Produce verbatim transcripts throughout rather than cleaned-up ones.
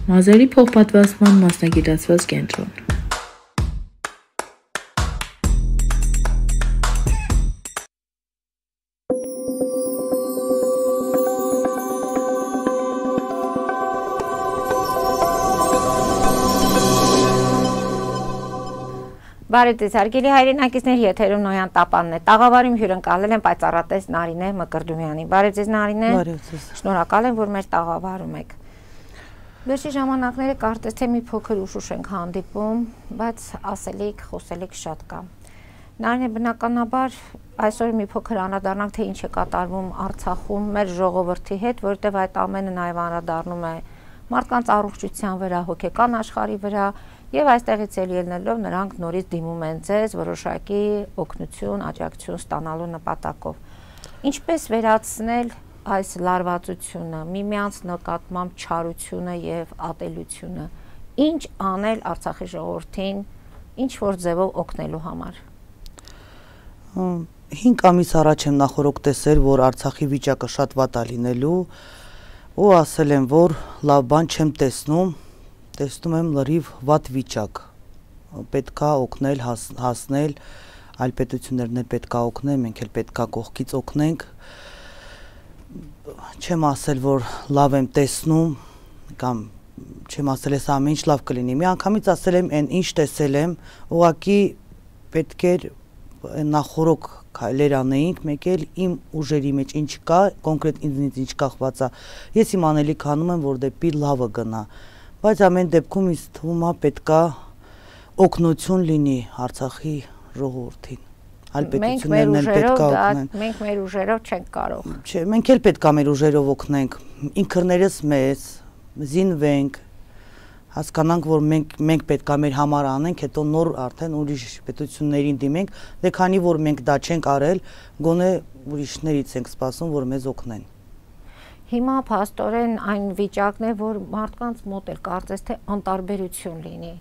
Մազերի փոխպատվաստման մասնագիտացված կենտրոն։ Բարև ձեզ, հարգելի հայրենակիցներ, եթերում Նոյան Տապանն է։ Տաղավարում հյուրընկալել եմ պայծառատես Նարինե Մկրդումյանին։ Բարև ձեզ, Նարինե։ Բարև ձեզ։ Շնորհակալ եմ, որ մեր տաղավարում եք։ Վերջի ժամանակները կարծես թե մի փոքր ուշուշ ենք հանդիպում, բայց ասելիք, խոսելիք շատ կա։ Նարինե, բնականաբար այսօր մի փոքր անդրադառնանք, թե ինչ է կատարվում Արցախում մեր ժողովրդի հետ, որտեղ այդ ամենը նաև անդրադառնում է մարդկանց առողջության վրա, հոգեկան աշխարհի վրա, եւ այստեղից էլ ելնելով նրանք նորից դիմում են ձեզ որոշակի օգնություն, աջակցություն ստանալու նպատակով։ Ինչպես վերացնել այս լարվածությունը, միմյանց նկատմամբ չարությունը եւ ատելությունը, ինչ անել Արցախի ժողովրդին, ինչ որ ձևով օգնելու համար։ հինգ ամիս առաջ եմ նախորդ տեսել, որ Արցախի վիճակը շատ վատ է լինելու, ու ասել եմ, որ լավ բան չեմ տեսնում, տեսնում եմ լրիվ վատ վիճակ, պետք է օգնել, հասնել, այլ պետություններն էլ պետք է օգնեն, մենք էլ պետք է կողքից օգնենք, չեմ ասել, որ լավ եմ տեսնում, կամ չեմ ասել ես ամեն ինչ լավ կլինի, մի անգամից ասել եմ, այն ինչ տեսել եմ, ուղղակի պետք էր նախորոք քայլեր անեինք, մեկ էլ իմ ուժերի մեջ ինչ կա, կոնկրետ ինձնից ինչ կախված է, ես իմ անելիք անում եմ, որ դեպի լավը գնա, բայց ամեն դեպքում ինձ թվում է պետքա օգնություն լինի Արցախի ժողովրդին, այլ պետություններն էլ պետքա օգնեն։ Մենք մեր ուժերով չենք կարող։ Չէ, մենք էլ պետքա մեր ուժերով օգնենք, ինքներս մեզ, զինվենք, հասկանանք, որ մենք մենք պետքա մեր համար անենք, հետո նոր արդեն ուրիշ պետություններին դիմենք, դե քանի որ մենք դա չենք արել, գոնե ուրիշներից ենք սպասում, որ մեզ օգնեն։ Հիմա փաստորեն այն վիճակն է, որ մարդկանց մոտ էլ կարծես թե անտարբերություն լինի։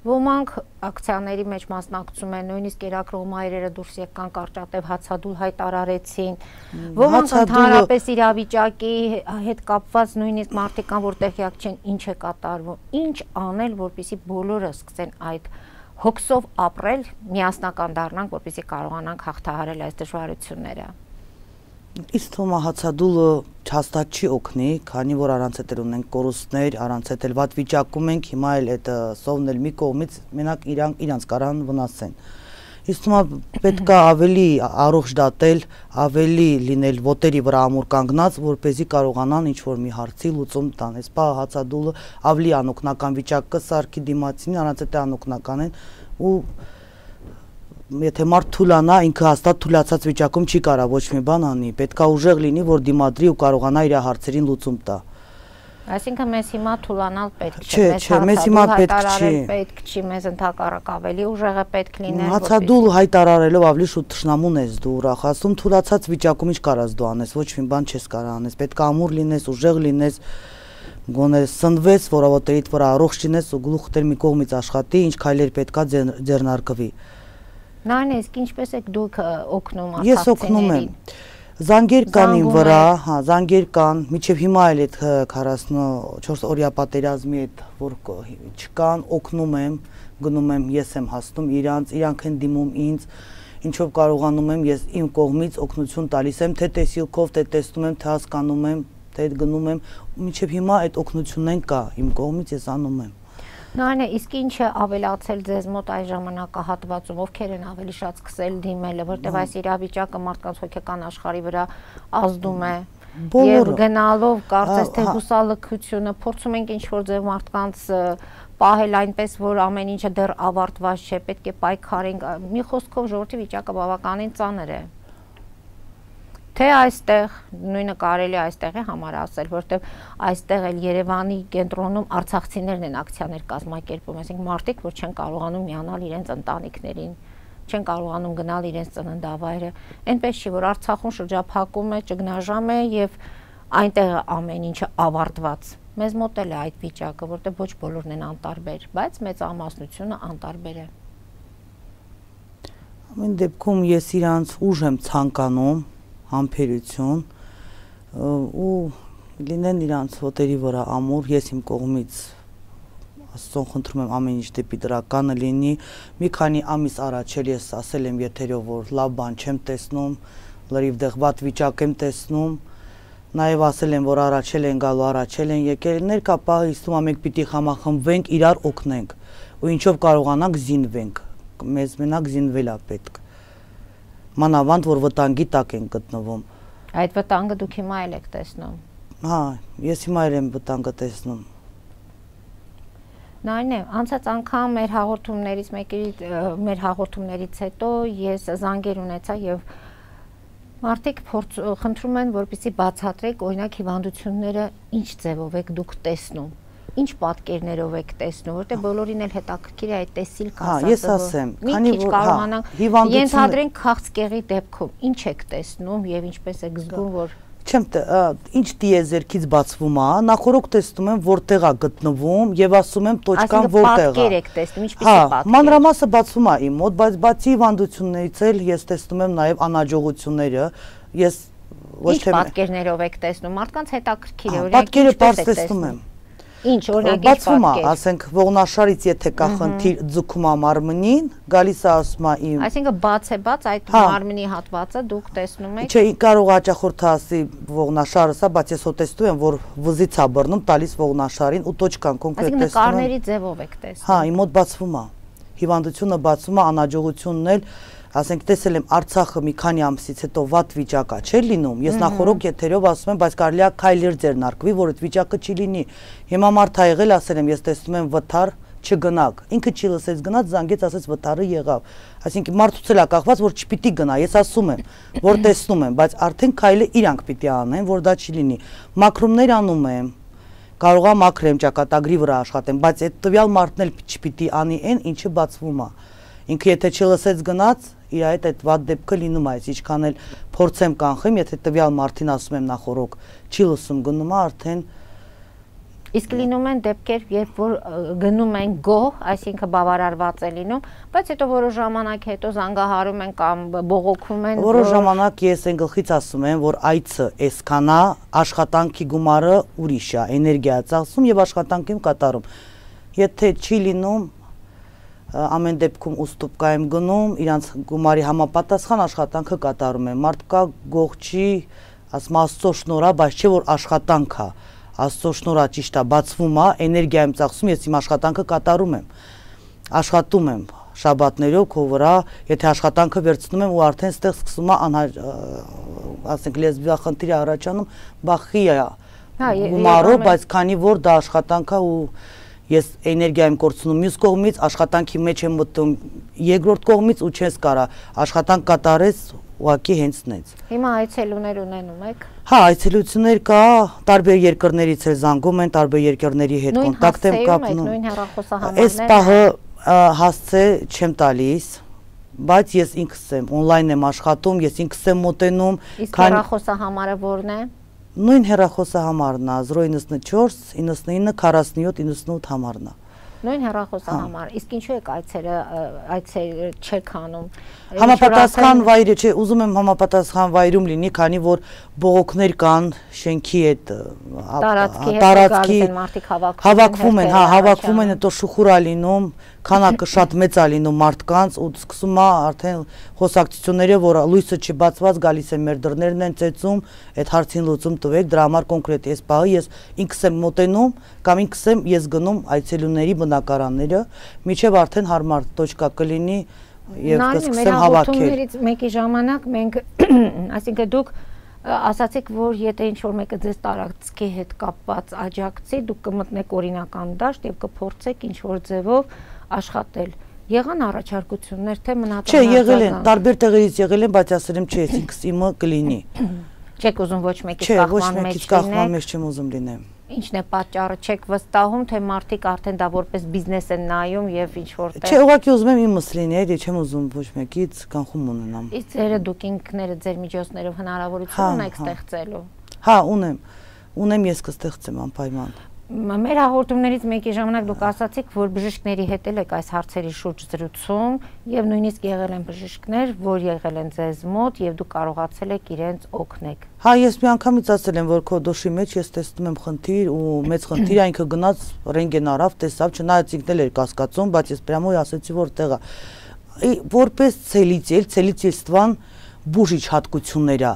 Ոմանք ակցիաների մեջ մասնակցում են, նույնիսկ կերակրող մայրերը դուրս եկան կարճատև հացադուլ հայտարարեցին, ոմանք ընդհանրապես իրավիճակի հետ կապված նույնիսկ մարդիկ կան, որ տեղյակ չեն ինչ է կատարվում, ինչ անել, որպեսզի բոլորը սկսեն այդ հոգսով ապրել, միասնական դառնանք, որպեսզի կարողանանք հաղթահարել այս դժվարությունները։ Իսկ թվում է հացադուլը հաստատ չի օգնի, քանի որ առանց էդ ունենք կորուստներ, առանց էդ էլ վատ վիճակում ենք, հիմա էլ այդ սովն էլ մի կողմից մենակ իրանք իրանց կարան վնասեն։ Իսկ թվում է պետք է ավելի առողջ դատել, ավելի լինել ոտերի վրա ամուր կանգնած, որպեսզի կարողանան ինչ-որ մի հարցի լուծում տան։ Այսպա հացադուլը ավելի անօգնական վիճակ կսարքի դիմացին, առանց էդ անօգնական են ու եթե մարդ թուլանա, ինքը հաստատ թուլացած վիճակում չի կարա ոչ մի բան անի, պետքա ուժեղ լինի, որ դիմադրի ու կարողանա իր հարցերին լուծում տա։ Այսինքն մեզ հիմա թուլանալ պետք չէ, չէ, մեզ հիմա պետք չի, պետք չի, մեզ ընդհակառակ ավելի ուժեղը պետք լինել։ Հացադուլ հայտարարելով ավելի շուտ թշնամուն ես դու ուրախ, ասում թուլացած վիճակում ինչ կարաս դու անես, ոչ մի բան չես կարա անես, պետք է ամուր լինես, ուժեղ լինես, գոնե սնվես, որովհետեւ վրա առողջ լինես ու գլուխդ մի կողմից աշխատի, ինչ քայլեր պետքա ձեռնարկվի։ Նարինե, իսկ ինչպես եք դուք օգնում արցախցիներին։ Ես օգնում եմ։ Զանգեր կան իմ վրա, հա, զանգեր կան, մինչև հիմա էլ այդ քառասունչորս օրյա պատերազմի այդ որ չկան, օգնում եմ, գնում եմ, ես եմ հասնում իրանց, իրանք են դիմում ինձ, ինչով կարողանում եմ, ես իմ կողմից օգնություն տալիս եմ, թե տեսիլքով, թե տեսնում եմ, թե հասկանում եմ, թե գնում եմ, մինչև հիմա այդ օգնությունն կա, իմ կողմից ես անում եմ։ Նարինե, իսկ ինչ է ավելացել ձեզ մոտ այս ժամանակահատվածում, ովքեր են ավելի շատ սկսել դիմելը, որտեղ այս իրավիճակը մարդկանց հոգեկան աշխարհի վրա ազդում է, եւ գնալով կարծես թե հուսալքությունը, փորձում ենք ինչ-որ ձև մարդկանց պահել այնպես, որ ամեն ինչը դեռ ավարտված չէ, պետք է պայքարենք, մի խոսքով ժողովրդի վիճակը բավականին ծանր է։ Թե այստեղ, նույնը կարելի է այստեղ է համար ասել, որտեղ այստեղ էլ Երևանի կենտրոնում արցախցիներն են ակցիաներ կազմակերպում, այսինքն մարդիկ, որ չեն կարողանում միանալ իրենց ընտանիքներին, չեն կարողանում գնալ իրենց ծննդավայրը, այնպես չի, որ Արցախում շրջափակում է, ճգնաժամ է եւ այնտեղ ամեն ինչը ավարտված։ Մեզ մոտ էլ է այդ վիճակը, որտեղ ոչ բոլորն են անտարբեր, բայց մեծամասնությունը անտարբեր է։ Ամեն դեպքում ես իրանց ուժ եմ ցանկանում, համբերություն ու լինեն իրանց ոտերի վրա ամուր, ես իմ կողմից Աստծուն խնդրում եմ ամեն ինչ դեպի դրականը լինի։ Մի քանի ամիս առաջ էլ ես ասել եմ եթերով, որ լավ բան չեմ տեսնում, լրիվ դեղ վատ վիճակ եմ տեսնում։ Նաև ասել եմ, որ առաջել են գալու, առաջել են եկել, ներկա պահը իստում ամենք պիտի համախմբվենք, իրար օգնենք, ու ինչով կարողանանք զինվենք, մեզ մենակ զինվել է պետք, մանավանդ, որ վտանգի տակ են գտնվում։ Այդ վտանգը դուք հիմա էլ եք տեսնում։ Հա, ես հիմա էլ եմ վտանգը տեսնում։ Նայն է, անցած անգամ մեր հաղորդումներից մեկի մեր հաղորդումներից հետո ես զանգեր ունեցա եւ մարդիկ խնդրում են, որպեսզի բացատրեք, օրինակ հիվանդությունները ինչ ձևով եք դուք տեսնում, ինչ պատկերներով եք տեսնում, որտեղ բոլորին էլ հետաքրքիր է այդ տեսիլք ասածը։ Հա, ես ասեմ, քանի որ կարողանանք ենթադրենք քաղցկեղի դեպքում ինչ եք տեսնում եւ ինչպես եք զգում, որ Չեմ ինչ դիեզերքից բացվում է, նախորոք տեսնում եմ որտեղ է գտնվում եւ ասում եմ տոճկան որտեղ է։ Պատկեր եք տեսնում, ինչպես է պատկեր։ Հա, մանրամասը բացվում է իմ մոտ, բայց բացի հիվանդություններից էլ ես տեսնում եմ նաեւ անհաջողությունները։ Ես ոչ թե պատկերներով եք տեսնում, մարդկանց հետաքրքիր է, օրինակ պատկերը բաց տեսնում եմ։ Ինչ, օրինակ ինչ բացվում է, պատկեր։ ասենք ողնաշարից եթե կա խնդիր ձգում է մարմնին, գալիս է ասում է իմ։ Այսինքն բաց է բաց այդ մարմնի հատվածը դուք տեսնում եք։ Չէ, կարող հաճախորդը ասի ողնաշարը սա, բայց ես հո տեսնում եմ, որ վզից է բռնում, տալիս ողնաշարին ու տոճկան կոնկրետ տեսնում եմ։ Այսինքն նկարների ձևով եք տեսնում։ Հա, իմ մոտ բացվում է։ Հիվանդությունը բացվում է, անհաջողությունն էլ ասենք տեսել եմ Արցախը մի քանի ամսից հետո վատ վիճակա չէ լինում, ես նախորոք եթերով ասում եմ, բայց կարելի է քայլեր ձեռնարկվի, որ այդ վիճակը չի լինի։ Հիմա մարդ ա եղել, ասել եմ, ես տեսնում եմ վթար, չգնաք, ինքը չի լսեց գնաց, զանգեց, ասեց վթարը եղավ։ Այսինքն մարդուց էլ է կախված, որ չպիտի գնա, ես ասում եմ, որ տեսնում եմ, բայց արդեն քայլը իրանք պիտի անեն, որ դա չի լինի։ Մաքրումներ անում եմ, կարող է մաքրեմ, ճակատագրի վրա աշխատեմ, բայց այդ տվյալ մարդն էլ չպիտի անի այն, ինչը բացվում է։ Ինքը եթե չլսեց գնաց, իր այդ այդ վատ դեպքը լինում է, ինչքան էլ փորձեմ կանխեմ, եթե տվյալ մարդին ասում եմ նախորոք, չի լսում գնում է արդեն։ Իսկ լինում են դեպքեր, երբ որ գնում են գոհ, այսինքն բավարարված է լինում, բայց հետո որոշ ժամանակ հետո զանգահարում են կամ բողոքում են։ Որոշ ժամանակ ես այն գլխից ասում եմ, որ այցը այսքան է, աշխատանքի գումարը ուրիշ է, էներգիա ծախսում եւ աշխատանքին կատարում։ Եթե չի լինում ամեն դեպքում ուստուպկա եմ գնում, իրանց գումարի համապատասխան աշխատանքը կատարում եմ։ Մարդկա գող չի, ասում Աստծո շնորհ է, բայց չէ որ աշխատանք է։ Աստծո շնորհ է, ճիշտ է, բացվում է, էներգիա եմ ծախսում, ես իմ աշխատանքը կատարում եմ։ Աշխատում եմ շաբաթներով քո վրա, եթե աշխատանքը վերցնում եմ ու արդեն ստեղ սկսում է ասենք լեսբիախնդիր առաջանում, բախի է գումարով, բայց քանի որ դա աշխատանք է ու ես էներգիա եմ կորցնում մյուս կողմից, աշխատանքի մեջ եմ մտնում երկրորդ կողմից ու չես կարա աշխատանք կատարես ուղղակի հենց նենց։ Հիմա այցելուներ ունենում եք։ Հա, այցելություններ կա, տարբեր երկրներից էլ զանգում են, տարբեր երկրների հետ կոնտակտ եմ կապնում։ Նույն հեռախոսահամարներ։ Այս պահը հասցե չեմ տալիս, բայց ես ինքս եմ օնլայն եմ աշխատում, ես ինքս եմ մոտենում։ Իսկ հեռախոսահամարը որն է։ Նույն հեռախոսահամարն է զրո իննսունչորս իննսունինը քառասունյոթ իննսունութ համարն է։ Նույն հեռախոսահամար։ Իսկ ինչու եք այցերը այցեր չեք անում։ Համապատասխան վայրը չէ, ուզում եմ համապատասխան վայրում լինի, քանի որ բողոքներ կան շենքի հետ տարածքի հավաքվում են, հա, հավաքվում են, հետո շուխուր է լինում, քանակը շատ մեծ է լինում մարդկանց ու սկսում է արդեն խոսակցությունները, որ լույսը չի բացված, գալիս են մեր դռներն են ծեծում, այդ հարցին լուծում տվեք, դրա համար կոնկրետ այս պահը ես ինքս եմ մոտենում կամ ինքս եմ ես գնում այցելուների բնակարանները, միջև արդեն հարմար տոճկա կլինի եւ կսկսեմ հավաքել։ Հաղորդումներից մեկի ժամանակ մենք, այսինքն դուք ասացիք, որ եթե ինչ-որ մեկը ձեզ տարածքի հետ կապված աջակցի, դուք կմտնեք օրինական դաշտ եւ կփորձեք ինչ-որ ձևով աշխատել։ Եղան առաջարկություններ, թե մնացան։ Չէ, եղել են, տարբեր տեղերից եղել են, բայց ասել եմ, չէ, ինքս իմը կլինի։ Չեք ուզում ոչ մեկից կախման մեջ լինել։ Չէ, ոչ լինեք։ մեկից կախման մեջ չեմ ուզում լինեմ։ Ինչն է պատճառը, չեք վստահում, թե մարդիկ արդեն դա որպես բիզնես են նայում եւ ինչ որտեղ։ Չէ, ուղղակի ուզում եմ իմս լինի, էլի չեմ ուզում ոչ մեկից կանխում ունենամ։ Իսկ ձերը դուք ինքները ձեր միջոցներով հնարավորություն ունեք ստեղծելու։ Հա, ունեմ։ Ունեմ, ես կստեղծեմ անպայման։ Մեր հաղորդումներից մեկի ժամանակ դուք ասացիք, որ բժիշկների հետ եք այս հարցերի շուրջ զրուցում եւ նույնիսկ եղել են բժիշկներ, որ եղել են ձեզ մոտ եւ դուք կարողացել եք իրենց օգնել։ Հա, ես մի անգամից ասել եմ, որ քո դոշի մեջ ես տեսնում եմ խնդիր ու մեծ խնդիր, այն ինքը գնաց ռենտգեն արավ, տեսավ, չնայած ինքն էլ էր կասկածում, բայց ես պրամոյ ասեցի, որ տեղա որպես ցելիցիել, ցելիցիստվան բուժիչ հատկություններ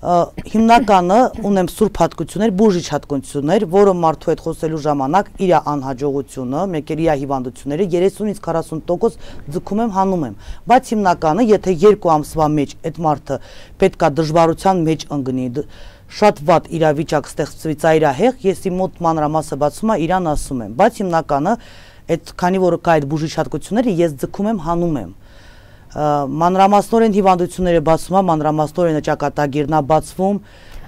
հիմնականը ունեմ սուրբ հատկություններ, բուժիչ հատկություններ, որը մարդու հետ խոսելու ժամանակ իր անհաջողությունը, մեկ էլ իր հիվանդությունները երեսունից քառասուն տոկոս ձգում եմ, հանում եմ, բայց հիմնականը, եթե երկու ամսվա մեջ այդ մարդը պետքա դժվարության մեջ ընկնի, շատ վատ իրավիճակ ստեղծվի ծայրահեղ, ես իմ մոտ մանրամասը բացում եմ, իրան ասում եմ, բայց հիմնականը այդ քանի որ կա այդ բուժիչ հատկությունները, ես ձգում եմ, հանում եմ մանրամասնորեն հիվանդությունները բացվում են, մանրամասնորեն ճակատագիրն է բացվում,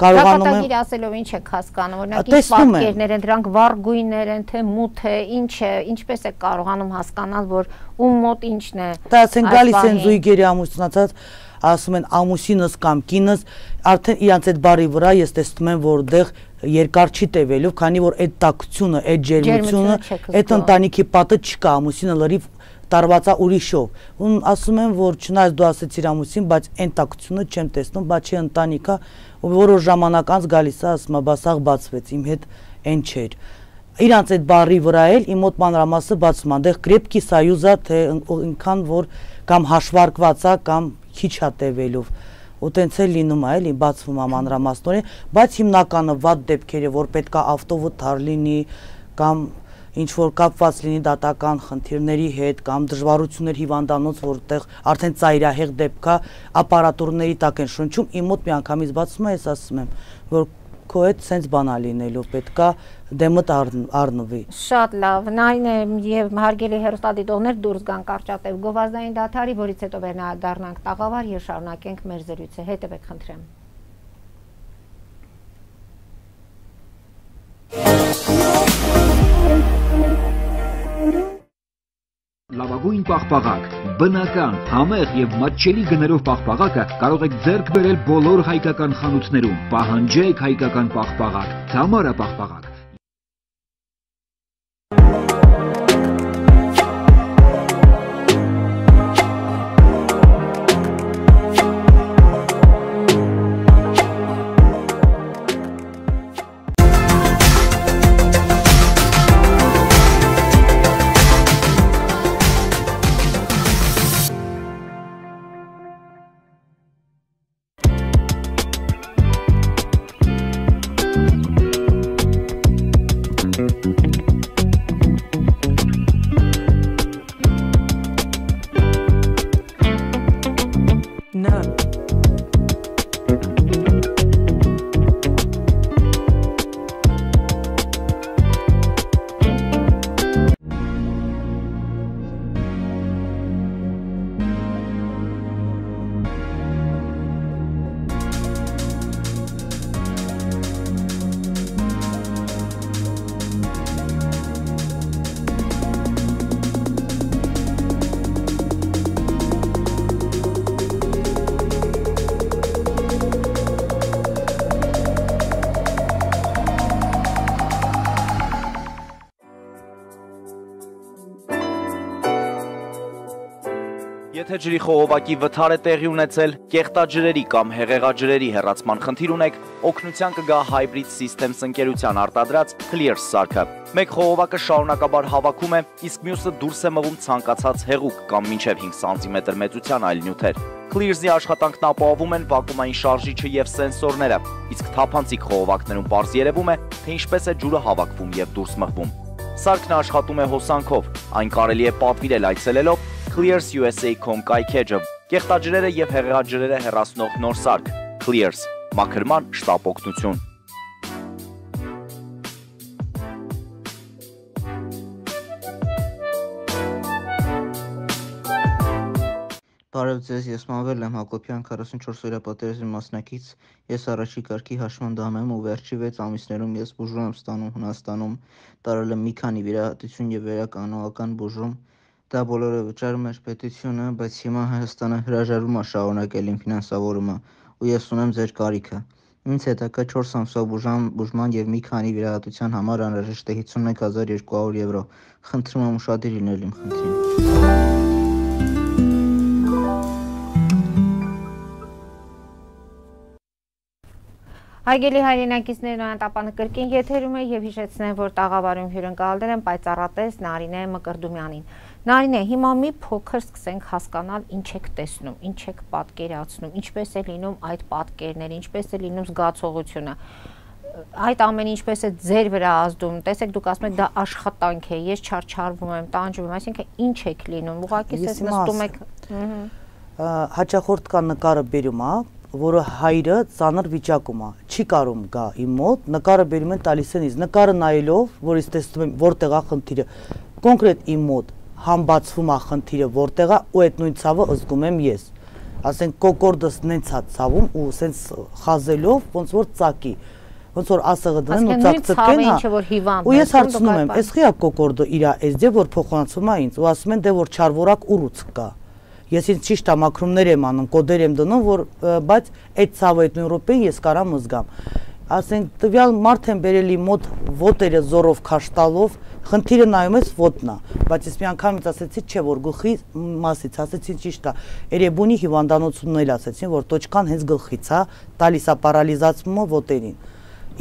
կարողանում եմ Ճակատագիր ասելով ինչ եք հասկանում, օրինակ ինչ պատկերներ են, դրանք վառ գույներ են, թե մութ է, ինչ է, ինչպես եք կարողանում հասկանալ, որ ում մոտ ինչն է։ Դա ասեն գալիս են զույգերի ամուսնացած, ասում են ամուսինս կամ կինս, արդեն իրանց այդ բարի վրա ես տեսնում եմ, որ դեղ երկար չի տևելու, քանի որ այդ տաքությունը, այդ ջերմությունը, այդ ընտանիքի պատը չկա, ամուսինը լրիվ տարվածա ուրիշով, ու ասում եմ, որ չնայած դու ասեցիր ամուսին, բայց այն տաքությունը չեմ տեսնում, բայց չի ընտանիքա, ու որոշ ժամանակ անց գալիս է, ասում է, բասաղ բացվեց, իմ հետ այն չէր։ Իրանց այդ բարի վրա էլ իմ մոտ մանրամասը բացում է, դեղ կրեպկի սայուզա, թե ինքան, որ կամ հաշվարկված է, կամ քիչ է տևելով, ու տենց էլ լինում է, էլի բացվում է մանրամասնորեն, բայց հիմնականը վատ դեպքերը, որ պետք է ավտովթար լինի, կամ ինչ որ կապված լինի դատական խնդիրների հետ կամ դժվարություններ հիվանդանոց, որտեղ արդեն ծայրահեղ դեպք է, ապարատուրների տակ են շնչում, իմ մոտ մի անգամից բացում է, ես ասում եմ, որ քո հետ սենց բան է լինելու, պետք է դեմդ առնվի։ Շատ լավ, նայն է եւ հարգելի հեռուստադիտողներ դուրս գան կարճատև գովազդային դադարի, որից հետո վերադառնանք տաղավար եւ շարունակենք մեր զրույցը, հետեւեք խնդրեմ։ Լավագույն պաղպաղակ, բնական, համեղ եւ մատչելի գներով պաղպաղակը կարող եք ձեռք բերել բոլոր հայկական խանութներում։ Պահանջեք հայկական պաղպաղակ, Թամարա պաղպաղակ։ Եթե ջրի խողովակի վթար է տեղի ունեցել, կեղտաջրերի կամ հեղեղաջրերի հեռացման խնդիր ունեք, օգնության կգա Hybrid Systems ընկերության արտադրած Clears սարքը։ Մեկ խողովակը շարունակաբար հավաքում է, իսկ մյուսը դուրս է մղում ցանկացած հեղուկ կամ մինչև հինգ սանտիմետր մեծության այլ նյութեր։ Clears-ի աշխատանքն ապահովում են վակուումային շարժիչը եւ սենսորները, իսկ թափանցիկ խողովակներում պարզ երևում է, թե ինչպես է ջուրը հավաքվում եւ դուրս մղվում։ Սարքն աշխատում է հոսանքով, այն կարելի է պատվիրել այցելելով Clears U S A dot com կայքեջը, կեղտաջրերը եւ հեղեղաջրերը հեռացնող նոր սարք, Clears, մաքրման շտապ օգնություն։ Բարև ձեզ, ես Մանվել եմ Հակոբյան, քառասունչորս օրյա պատերազմի մասնակից, ես առաջի կարգի հաշմանդամ եմ ու վերջի վեց ամիսներում ես բուժում եմ ստանում Հունաստանում, տարել եմ մի քանի վիրահատություն եւ վերականողական բուժում, դա բոլորը վճարում էր պետությունը, բայց հիմա Հայաստանը հրաժարվում է շարունակել իմ ֆինանսավորումը ու ես ունեմ ձեր կարիքը։ Ինձ հետաքրքրը չորս ամսվա բուժման եւ մի քանի վիրահատության համար անհրաժեշտ է հիսունմեկ հազար երկու հարյուր եվրո։ Խնդրում եմ ուշադիր լինել իմ խնդրին։ Հարգելի հայրենակիցներ, նոյանտապանը կրկին եթերում է եւ հիշեցնեմ, որ տաղավարում հյուրընկալել են պայծառատես Նարինե Մկրդումյանին։ Նարինե, հիմա մի փոքր սկսենք հասկանալ ինչ եք տեսնում, ինչ եք պատկերացնում, ինչպես է լինում այդ պատկերները, ինչպես է լինում զգացողությունը։ Այդ ամենը ինչպես է ձեր վրա ազդում։ Տեսեք, դուք ասում եք դա աշխատանք է, ես չարչարվում եմ, տանջվում եմ, այսինքն ինչ եք լինում։ Ուղղակի ես նստում եք։ Հաճախորդ կա նկարը բերում, հա, որը հայրը ծանր վիճակում է, չի կարում գա իմ մոտ, նկարը բերում են տալիս են ինձ, նկարը նայելով, որ ես տեսնում եմ որտեղ է խնդիրը, կոնկրետ իմ մոտ համբացվում է խնդիրը որտեղ է, ու այդ նույն ցավը զգում եմ ես, ասենք կոկորդս նենց է ցավում ու սենց խազելով ոնց որ ծակի, ոնց որ ասեղը դնեն ու ծակծկեն, ու ես հարցնում եմ, էս խիա կոկորդը իրա էս դե որ փոխանցում է ինձ, ու ասում են դե որ չարվորակ ուռուց կա։ Ես ինձ ճիշտ ամակրումներ եմ անում, կոդեր եմ դնում, որ բայց այդ ցավը այդ նույն րոպեին ես կարամ զգամ։ Ասենք տվյալ մարդ եմ բերելի մոտ ոտերը զորով քաշ տալով, խնդիրը նայում ես ոտնա, բայց ես մի անգամից ասեցի, չէ որ գլխի մասից, ասեցի ճիշտ է, Էրեբունի հիվանդանոցումն էլ ասեցին, որ տոճկան հենց գլխից է, տալիս է պարալիզացումը ոտերին։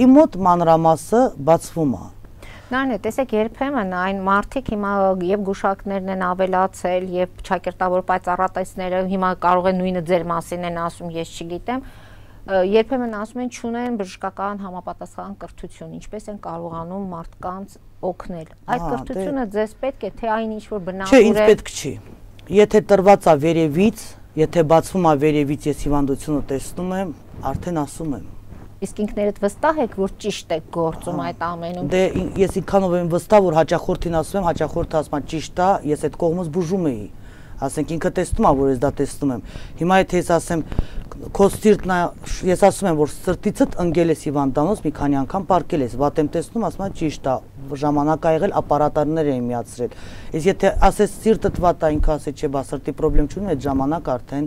Իմ մոտ մանրամասը բացվում է։ Նարինե, տեսեք, երբեմն այն մարդիկ հիմա եւ գուշակներն են ավելացել եւ ճակերտավոր պայծառատեսները հիմա կարող են նույնը ձեր մասին են ասում, ես չգիտեմ, երբեմն ասում են չունեն բժշկական համապատասխան կրթություն, ինչպես են կարողանում մարդկանց օգնել։ Այդ կրթությունը ձեզ պետք է, թե այն ինչ որ բնավոր է։ Չէ, ինձ պետք չի։ Եթե տրված է վերևից, եթե բացվում է վերևից, ես հիվանդությունը տեսնում եմ, արդեն ասում եմ։ Իսկ ինքներդ վստահ եք, որ ճիշտ եք գործում այդ ամենում։ Դե ես ինքանով եմ վստահ, որ հաճախորդին ասում եմ, հաճախորդը ասում է ճիշտ է, ես այդ կողմից բուժում էի։ Ասենք ինքը տեսնում է, որ ես դա տեսնում եմ։ Հիմա եթե ես ասեմ, քո սիրտն է, ես ասում եմ, որ սրտիցդ ընկել ես հիվանդանոց, մի քանի անգամ պարկել ես, վատ եմ տեսնում, ասում եմ ճիշտ է, ժամանակ ա եղել, ապարատարներ էին միացրել։ Իսկ եթե ասես սիրտդ վատ է, ինքը ասի չէ, բա սրտի խնդրեմ չունի, այդ ժամանակ արդեն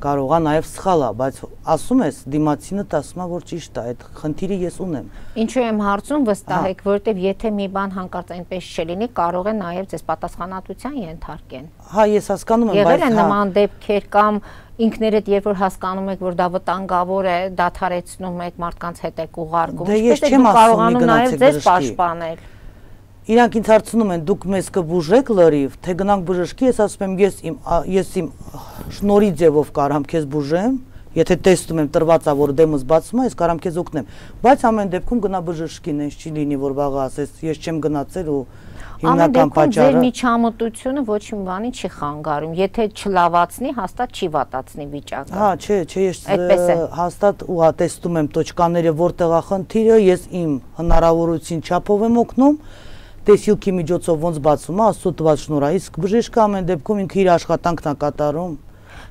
կարող է նաև սխալ է, բայց ասում ես դիմացինդ ասում է, որ ճիշտ է, այդ խնդիրը ես ունեմ։ Ինչու եմ հարցում, վստահ եք, որովհետև եթե մի բան հանկարծ այնպես չլինի, կարող է նաև ձեզ պատասխանատվության ենթարկեն։ Հա, ես հասկանում եմ, բայց եղել են նման դեպքեր կամ ինքներդ երբ որ հասկանում եք, որ դա վտանգավոր է, դադարեցնում եք, մարդկանց հետ եք ուղարկում, ինչպես եք կարողանում նաև ձեզ պաշտպանել։ Իրանք ինձ հարցնում են, դուք մեզ կբուժեք լրիվ, թե գնանք բժշկի, ես ասում եմ, ես իմ ես իմ շնորհի ձևով կարամ քեզ բուժեմ, եթե տեսնում եմ տրված է, որ դեմս բացում է, ես կարամ քեզ օգնեմ, բայց ամեն դեպքում գնա բժշկին, ինձ չի լինի, որ վաղը ասես, ես չեմ գնացել ու հիմնական պատճառը։ Ձեր միջամտությունը ոչ մի բանի չի խանգարում, եթե չլավացնի, հաստատ չի վատացնի վիճակը։ Հա, չէ, չէ, ես հաստատ ու հա տեսնում եմ տոճկաները որտեղ է խնդիրը, ես իմ հնարավորություն չափով եմ օգնում, տեսիլքի միջոցով ոնց բացում է, աստծո տված շնորհ է, իսկ բժիշկը ամեն դեպքում ինքը իր աշխատանքն է կատարում։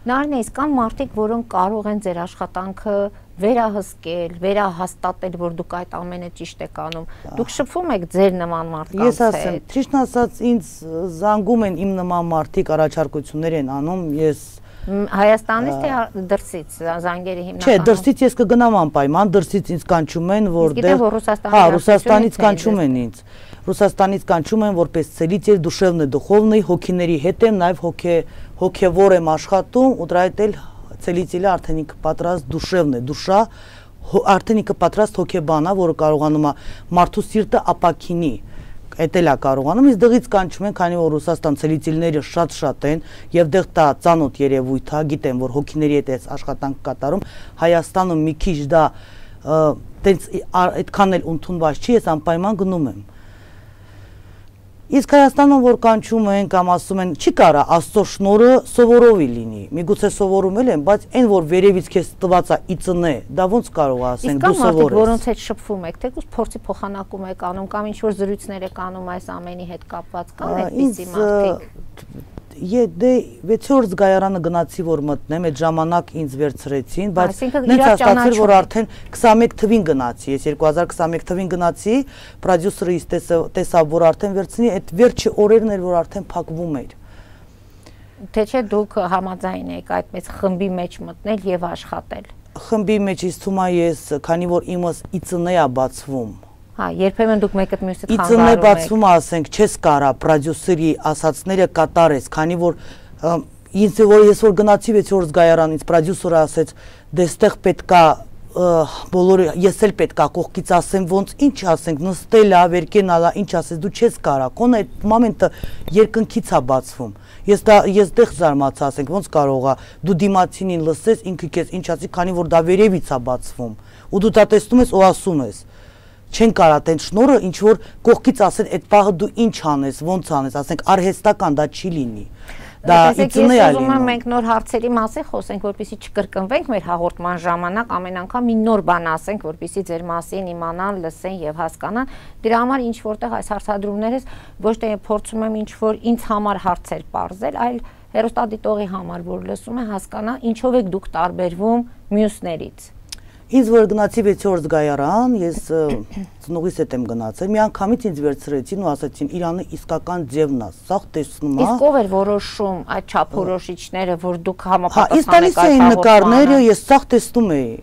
Նարինե, իսկ կան մարդիկ, որոնք կարող են ձեր աշխատանքը վերահսկել, վերահաստատել, որ դուք այդ ամենը ճիշտ եք անում։ Դուք շփվում եք ձեր նման մարդկանց հետ։ Ես ասեմ, ճիշտն ասած, ինձ զանգում են իմ նման մարդիկ, առաջարկություններ են անում, ես Հայաստանից թե դրսից զանգերի հիմնականում։ Չէ, դրսից ես կգնամ անպայման, դրսից ինձ կանչում են, որտեղ հա, Ռուսաստանից կանչում են ինձ։ Ռուսաստանից կանչում են որպես целитель душевный духовный, հոգիների հետ եմ, նաև հոգե հոգևոր եմ աշխատում, ու դրա հետ էլ целитель-ը արդեն ինքը պատրաստ душевный, душа, արդեն ինքը պատրաստ հոգեբան է, որը կարողանում է մարդու սիրտը ապակինի։ Այդ էլ է կարողանում, իսկ դղից կանչում են, քանի որ Ռուսաստան ցելիտիլները շատ-շատ են եւ դեղ դա ծանոթ երևույթ է, գիտեմ, որ հոգիների հետ է աշխատանք կատարում, Հայաստանում մի քիչ դա տենց այդքան էլ ընդունված չի, ես անպայման գնում եմ։ Իսկ Հայաստանում որ կանչում են կամ ասում են, չի կարա Աստծո շնորհը սովորովի լինի։ Միգուցե սովորում էլ են, բայց այն որ վերևից քեզ տված է իծնե, դա ոնց կարող է ասենք դու սովոր ես։ Որոնց հետ շփվում եք, թեկուզ փորձի փոխանակում եք անում կամ ինչ որ զրույցներ եք անում այս ամենի հետ կապված, կան այդպիսի մարդիկ։ Դե վեցորդ զգայարանը գնացի որ մտնեմ, այդ ժամանակ ինձ վերցրեցին, բայց նենց հաստատվեց որ արդեն քսանմեկ թվին գնացի, ես երկու հազար քսանմեկ թվին գնացի, պրոդյուսերը ինձ տեսավ որ արդեն վերցնի, այդ վերջի օրերն էր որ արդեն փակվում էր։ Թե չէ դուք համաձայն եք այդպես խմբի մեջ մտնել եւ աշխատել։ խմբի մեջ ինձ թվում է ես, քանի որ իմս իծն է բացվում։ Հա, երբեմն դուք մեկը մյուսից խանգարում եք։ Իծն է բացվում, ասենք, չես կարա պրոդյուսերի ասածները կատարես, քանի որ ինձ որ ես որ գնացի վեց օր զգայարան, ինձ պրոդյուսերը ասեց, դե ստեղ պետքա բոլորը ես էլ պետքա կողքից ասեմ ոնց ինչ ասենք նստել ա վերկենալա ինչ ասես դու չես կարա կոնը այդ մոմենտը երկնքից է բացվում ես դա ես դեղ զարմացա ասենք ոնց կարող ա դու դիմացինին լսես ինքը քեզ ինչ ասի քանի որ դա վերևից է բացվում ու դու դա տեսնում ես ու ասում ես չեն կարա տեն շնորը ինչ որ կողքից ասեն այդ պահը դու ինչ անես ոնց անես ասենք արհեստական դա չի լինի դա իծն է ալինը մենք նոր հարցերի մասին խոսենք որպեսզի չկրկնվենք մեր հաղորդման ժամանակ ամեն անգամ մի նոր բան ասենք որպեսզի ձեր մասին իմանան լսեն եւ հասկանան դրա համար ինչ որտեղ այս հարցադրումներս ոչ թե փորձում եմ ինչ որ ինձ համար հարցեր բարձել այլ հերոստատիտողի համար որ լսում է հասկանա ինչով եք դուք տարբերվում մյուսներից Ինձ որ գնացի վեց օր զգայարան, ես ծնողիս հետ եմ գնացել, մի անգամից ինձ վերցրեցին ու ասացին Իրանը իսկական ձևն է, սաղ տեսնում է։ Իսկ ով էր որոշում այդ չափորոշիչները, որ դուք Հա, համապատասխանեք այս տալիս էին նկարները, ես սաղ տեսնում էի։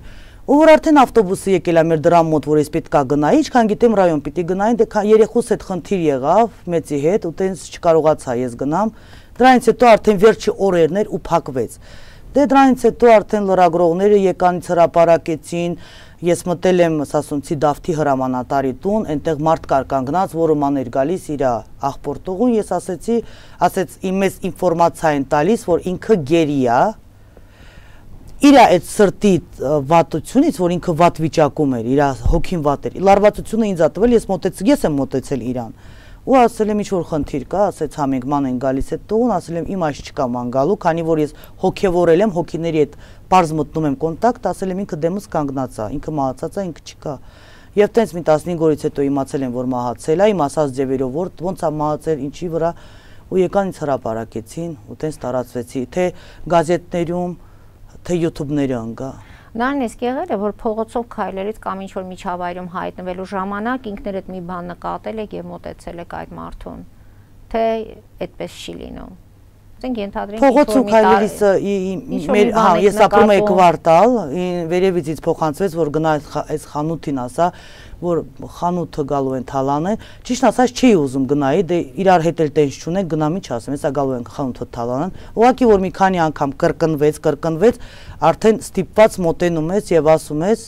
Ու որ արդեն ավտոբուսը եկել է մեր դրամ մոտ, որ ես պետքա գնայի, ինչքան գիտեմ ռայոն պիտի գնային, դե երեխուս հետ խնդիր եղավ, մեծի հետ, ու տենց չկարողացա ես գնամ։ Դրանից հետո արդեն վերջի օրերն էր ու փակվեց։ Դե դրանից հետո արդեն լրագրողները եկանից հրապարակեցին, ես մտել եմ Սասունցի Դավթի հրամանատարի տուն, այնտեղ մարդ կար կանգնած, որը ման էր գալիս իր աղբորտողուն, ես ասեցի, ասեց իմ մեզ ինֆորմացիա են տալիս, որ ինքը գերի է, իր այդ սրտի վատությունից, որ ինքը վատ վիճակում էր, իր հոգին վատ էր, լարվածությունը ինձ ա տվել, ես մոտեցել, ես եմ մոտեցել իրան, ու ասել եմ ինչ-որ խնդիր կա, ասեց հա մենք ման են գալիս այդ տողուն, ասել եմ իմ այս չկա ման գալու, քանի որ ես հոգևորել եմ, հոգիների հետ պարզ մտնում եմ կոնտակտ, ասել եմ ինքը դեմս կանգնած է, ինքը մահացած է, ինքը չկա։ Եվ տենց մի տասնհինգ օրից հետո իմացել եմ, որ մահացել է, իմ ասած ձևերով, որ ոնց է մահացել, ինչի վրա, ու եկան ինձ հրապարակեցին, ու տենց տարածվեցի, թե գազետներում, թե յութուբները ընկա։ Նարն իսկ եղել է, որ փողոցով քայլելից կամ ինչ-որ միջավայրում հայտնվելու ժամանակ ինքներդ մի բան նկատել եք և մոտեցել եք այդ մարդուն, թե այդպես չի լինում։ Փողոցում քայլելիս ես ապրում էի կվարտալ, վերևից ինձ փոխանցվեց, որ գնա այս խանութին ասա, որ խանութը գալու են թալանեն, ճիշտ ասած չի ուզում գնայի, դե իրար հետ էլ տենց չունենք, գնամ ինչ ասեմ, հեսա գալու են խանութը թալանեն, ուղղակի որ մի քանի անգամ կրկնվեց, կրկնվեց, արդեն ստիպված մոտենում ես եւ ասում ես,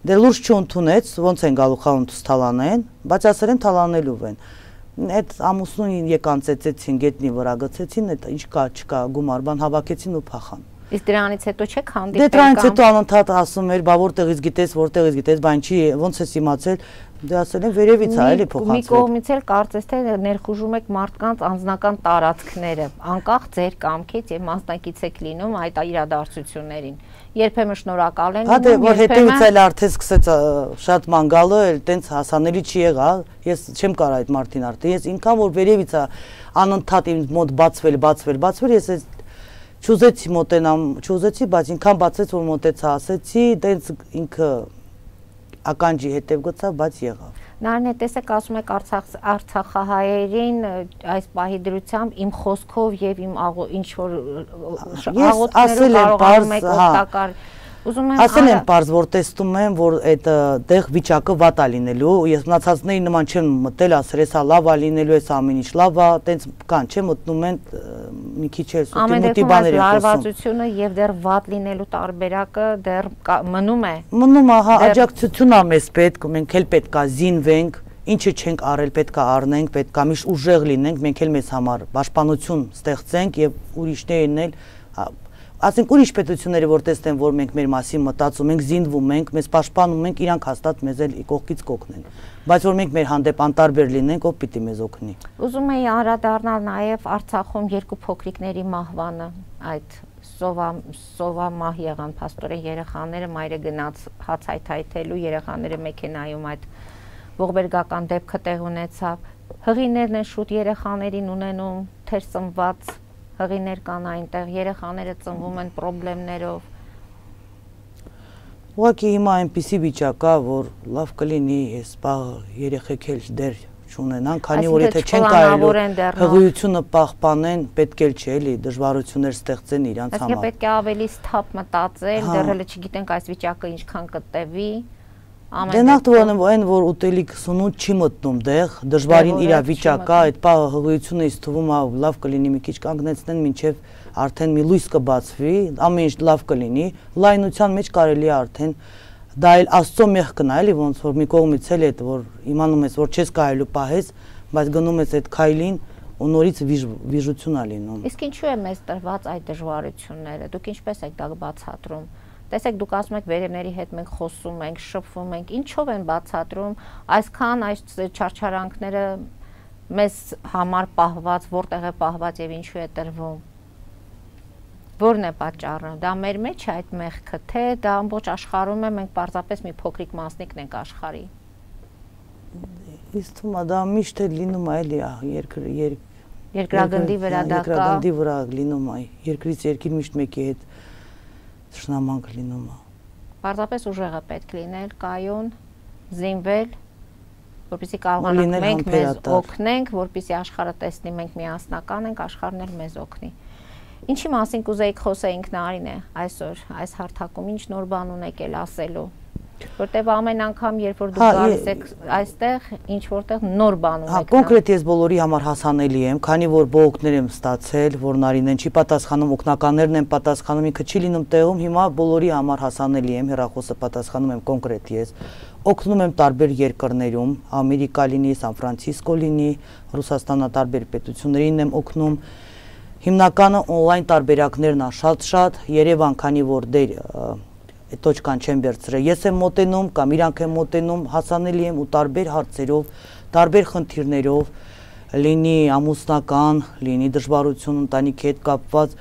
դե լուրջ չընդունեց, ոնց են գալու խանութս թալանեն, բայց ասել են թալանելու են։ Այդ ամուսնուն եկան ծեծեցին, գետնի վրա գցեցին, այդ ինչ կա, չկա, գումար բան հավաքեցին ու փախան։ Իսկ դրանից հետո չեք հանդիպել կամ։ Դե դրանից հետո անընդհատ ասում էր, բա որտեղից գիտես, որտեղից գիտես, բան չի, ոնց ես իմացել, դե ասել են վերևից է, էլի փոխանցվել։ Մի կողմից էլ կարծես թե ներխուժում եք մարդկանց անձնական տարածքները, անկախ ձեր կամքից եւ մասնակից եք լինում այդ իրադարձություններին։ Երբեմն շնորհակալ են լինում, որ հետևից էլ արդեն սկսեց շատ ման գալը, էլ տենց հասանելի չի եղա, ես չեմ կարող այդ մարդին արդեն, ես ինքան որ վերևից է անընդհատ իմ մոտ բացվել, բացվել, բացվել, ես այս չուզեցի մոտենամ, չուզեցի, բայց ինքան բացեց, որ մոտեցա, ասեցի, տենց ինքը ականջի հետև գցավ, բայց եղավ։ Նարնե, տեսեք, ասում եք Արցախահայերին այս պահի դրությամբ իմ խոսքով եւ իմ ինչ-որ աղոթներով կարողանում եք օգտակար Ասել եմ պարզ, որ տեսնում եմ, որ այդ տեղ վիճակը վատ է լինելու, ես մնացածների նման չեմ մտել, ասել ես լավ է լինելու, ես ամեն ինչ լավ է, տենց կան, չէ, մտնում են մի քիչ էլ սուտի մուտի բաներ են խոսում։ Լարվածությունը եւ դեռ վատ լինելու տարբերակը դեռ մնում է։ Մնում է, հա, աջակցություն է մեզ պետք, մենք էլ պետք է զինվենք, ինչը չենք արել, պետք է առնենք, պետք է միշտ ուժեղ լինենք, մենք էլ մեզ համար պաշտպանություն ստեղծենք եւ ուրիշներն էլ ասենք ուրիշ պետությունները որ տեսնեն որ մենք մեր մասին մտածում ենք, զինվում ենք, մեզ պաշտպանում ենք, իրանք հաստատ մեզ էլ կողքից կօգնեն։ Բայց որ մենք մեր հանդեպ անտարբեր լինենք, ով պիտի մեզ օգնի։ Ուզում էի անդրադառնալ նաև Արցախում երկու փոքրիկների մահվանը, այդ սովա սովա մահ եղան փաստորեն երեխաները, մայրը գնաց հաց հայթայթելու, երեխաները մեքենայում այդ ողբերգական դեպքը տեղ ունեցավ։ Հղիներն են շուտ երեխաներին ունենում, թեր ծնված հղիներ կան այնտեղ, երեխաները ծնվում են պրոբլեմներով։ Ուղղակի հիմա այնպիսի վիճակ կա, որ լավ կլինի այս պահը երեխեք էլ դեռ չունենան, քանի որ եթե չեն կարելի հղիությունը պահպանեն, պետք էլ չէ, էլի դժվարություններ ստեղծեն իրանց համար։ Այսինքն պետք է ավելի սթափ մտածել, դեռ հələ չգիտենք այս վիճակը ինչքան կտևի։ Դե նախ դուրն այն որ ուտելիք սնունդ չի մտնում դեղ, դժվարին իր վիճակա, այդ պահը հղիությունը ինձ թվում է լավ կլինի մի քիչ կանգնեցնեն, մինչև արդեն մի լույս կբացվի, ամեն ինչ լավ կլինի, լայնության մեջ կարելի է արդեն դա էլ Աստծո մեղքն է, էլի ոնց որ մի կողմից էլ է, որ իմանում ես, որ չես կարելու պահես, բայց գնում ես այդ քայլին ու նորից վիժություն է լինում։ Իսկ ինչու է մեզ տրված այդ դժվարությունները։ Դուք ինչպես եք դա բացատրում։ Տեսեք, դուք ասում եք վերևների հետ մենք խոսում ենք, շփվում ենք, ինչով են բացատրում այսքան այս չարչարանքները մեզ համար պահված, որտեղ է պահված եւ ինչու է տրվում։ Որն է պատճառը։ Դա մեր մեջ է այդ մեղքը, թե դա ամբողջ աշխարհում է, մենք պարզապես մի փոքրիկ մասնիկն ենք աշխարհի։ Իսկ թվում է դա միշտ է լինում է, էլի երկրի երկրագնդի վրա դա կա։ Երկրագնդի վրա լինում է, երկրից երկիր միշտ մեկի հետ շնամանք լինում է։ Պարզապես ուժեղը պետք լինել, կայուն, զինվել, որպեսզի կարողանանք մենք մեզ օգնենք, որպեսզի աշխարհը տեսնի մենք միասնական ենք, աշխարհն էլ մեզ օգնի։ Ինչի մասին կուզեիք խոսեինք Նարինե այսօր, այս հարթակում, ինչ նոր բան ունեք էլ ասելու, որտեվ ամեն անգամ, երբ որ դուք գալիս եք այստեղ, ինչ որտեղ նոր բան ունեք։ Հա, կոնկրետ ես բոլորի համար հասանելի եմ, քանի որ բողոքներ եմ ստացել, որ Նարինեն չի պատասխանում, օգնականներն են պատասխանում, ինքը չի լինում տեղում, հիմա բոլորի համար հասանելի եմ, հեռախոսը պատասխանում եմ կոնկրետ ես։ Օգնում եմ տարբեր երկրներում, Ամերիկա լինի, Սան Ֆրանցիսկո լինի, Ռուսաստանը տարբեր պետություններին եմ օգնում։ Հիմնականը on-line տարբերակներն է շատ-շատ, Երևան, քանի որ դեր տոճկան չեմ վերցրել, ես եմ մոտենում կամ իրանք են մոտենում, հասանելի եմ ու տարբեր հարցերով, տարբեր խնդիրներով, լինի ամուսնական, լինի դժվարություն ընտանիքի հետ կապված,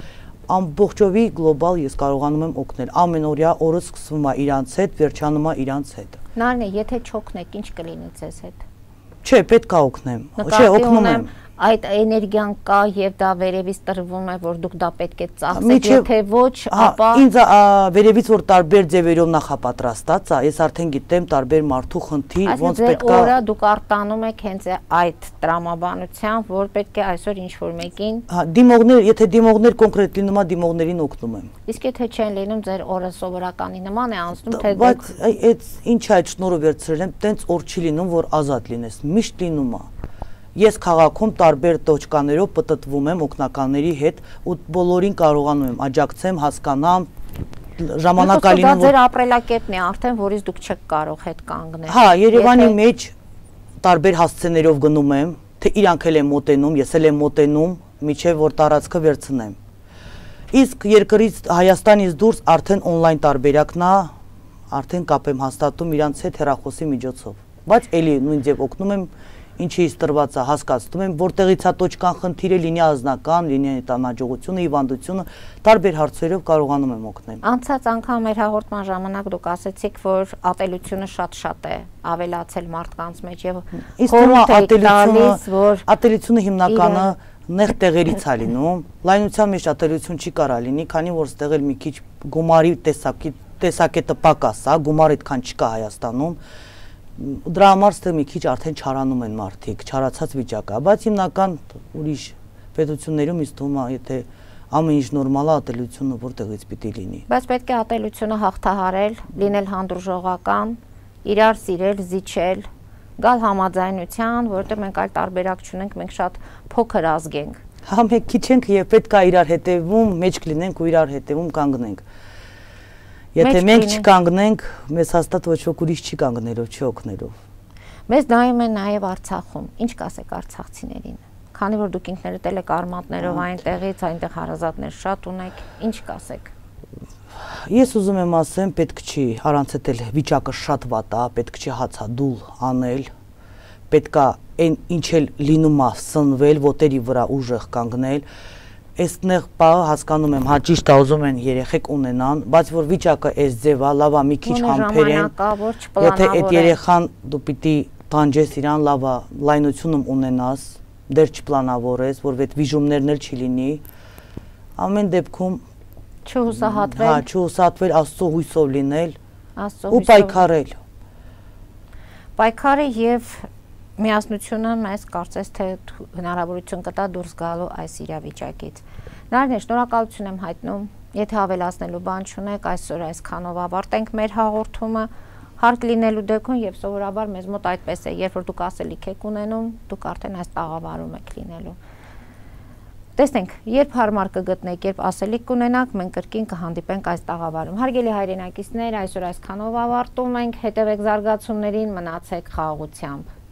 ամբողջովի գլոբալ ես կարողանում եմ օգնել, ամենօրյա օրը սկսվում է իրանց հետ, վերջանում է իրանց հետ։ Նարինե, եթե չօգնեք, ինչ կլինի ձեզ հետ։ Չէ, պետք է օգնեմ, չէ, օգնում եմ։ Այդ էներգիան կա եւ դա վերևից տրվում է, որ դուք դա պետք է ծախսեք, եթե ոչ, ապա ինձ վերևից որ տարբեր ձևերով նախապատրաստած է, ես արդեն գիտեմ տարբեր մարդու խնդիր, ոնց պետք է։ Օրը դուք արտանում եք հենց այդ տրամաբանությամբ, որ պետք է այսօր ինչ որ մեկին։ Հա, դիմողներ, եթե դիմողներ կոնկրետ լինում է, դիմողներին օգնում եմ։ Իսկ եթե չեն լինում, ձեր օրը սովորականի նման է անցնում, թե բայց այդ ինչ է այդ շնորհը վերցրել եմ, տենց օր չի լինում, որ ազատ լինես, միշտ լինում է։ Ես քաղաքում տարբեր տոճկաներով պտտվում եմ օգնականների հետ ու բոլորին կարողանում եմ աջակցեմ, հասկանամ, ժամանակալինում որ ձեր ապրելակերպն է արդեն, որից դուք չեք կարող հետ կանգնել։ Հա, Երևանի մեջ տարբեր հասցեներով գնում եմ, թե իրանք էլ են մոտենում, ես էլ եմ մոտենում, միջև որ տարածքը վերցնեմ։ Իսկ երկրից Հայաստանից դուրս արդեն on-line տարբերակն է, արդեն կապ եմ հաստատում իրանց հետ հեռախոսի միջոցով։ Բայց էլի նույն ձև օգնում եմ ինչի տրված է հասկացնում եմ, որտեղից է տոճկան խնդիրը, լինի ազնական, լինի տանաջողությունը, հիվանդությունը, տարբեր հարցերով կարողանում եմ օգնել։ Անցած անգամ մեր հաղորդման ժամանակ դուք ասացիք, որ ատելությունը շատ-շատ է ավելացել մարդկանց մեջ եւ ատելությունը, ատելությունը հիմնականը նեղ տեղերից է լինում, լայնության մեջ ատելություն չի կարա լինի, քանի որ ստեղ էլ մի քիչ գումարի տեսակի տեսակետը պակաս է, գումար այդքան չկա Հայաստանում։ Դրա համար ստեղ մի քիչ արդեն չարանում են մարդիկ, չարացած վիճակա, բայց հիմնական ուրիշ պետություններում ինձ թվում է, եթե ամեն ինչ նորմալ է, ատելությունը որտեղից պիտի լինի։ Բայց պետք է ատելությունը հաղթահարել, լինել հանդուրժողական, իրար սիրել, զիջել, գալ համաձայնության, որովհետև մենք այլ տարբերակ չունենք, մենք շատ փոքր ազգ ենք։ Հա, մենք քիչ ենք եւ պետք է իրար հետևում, մեջ կլինենք ու իրար հետևում կանգնենք։ Եթե մենք չկանգնենք, մեզ հաստատ ոչ ոք ուրիշ չի կանգնելով, չի օգնելով։ Մեզ նայում են նաև Արցախում։ Ինչ կասեք արցախցիներին։ Քանի որ դուք ինքներդ էլ եք արմատներով այնտեղից, այնտեղ հարազատներ շատ ունեք, ինչ կասեք։ Ես ուզում եմ ասեմ, պետք չի, առանց էլ վիճակը շատ վատ է, պետք չի հացադուլ անել, պետք է այն ինչ էլ լինում է սնվել, ոտերի վրա ուժեղ կանգնել։ Այստեղ պահը հասկանում եմ, հա ճիշտ է ուզում են երեխեք ունենան, բայց որ վիճակը այս ձև է, լավ է մի քիչ համբերեն, եթե այդ երեխան դու պիտի տանջես իրան, լավ է լայնությունում ունենաս, դեռ չպլանավորես, որ այդ վիժումներն էլ չի լինի, ամեն դեպքում չհուսահատվել, հա չհուսահատվել, Աստծո հույսով լինել ու պայքարել։ Պայքարը եւ միասնությունը մեզ կարծես թե հնարավորություն կտա դուրս գալու այս իրավիճակից։ Նարդին, շնորհակալություն եմ հայտնում, եթե ավելացնելու բան չունեք, այսօր այսքանով ավարտենք մեր հաղորդումը, հարկ լինելու դեպքում եւ սովորաբար մեզ մոտ այդպես է, երբ որ դուք ասելիք եք ունենում, դուք արդեն այս տաղավարում եք լինելու։ Տեսնենք, երբ հարմար կգտնեք, երբ ասելիք կունենաք, մենք կրկին կհանդիպենք այս տաղավարում։ Հարգելի հայրենակիցներ, այսօր այսքանով ավարտում ենք, հետևեք զարգացումներին, մնացեք խաղաղությամբ։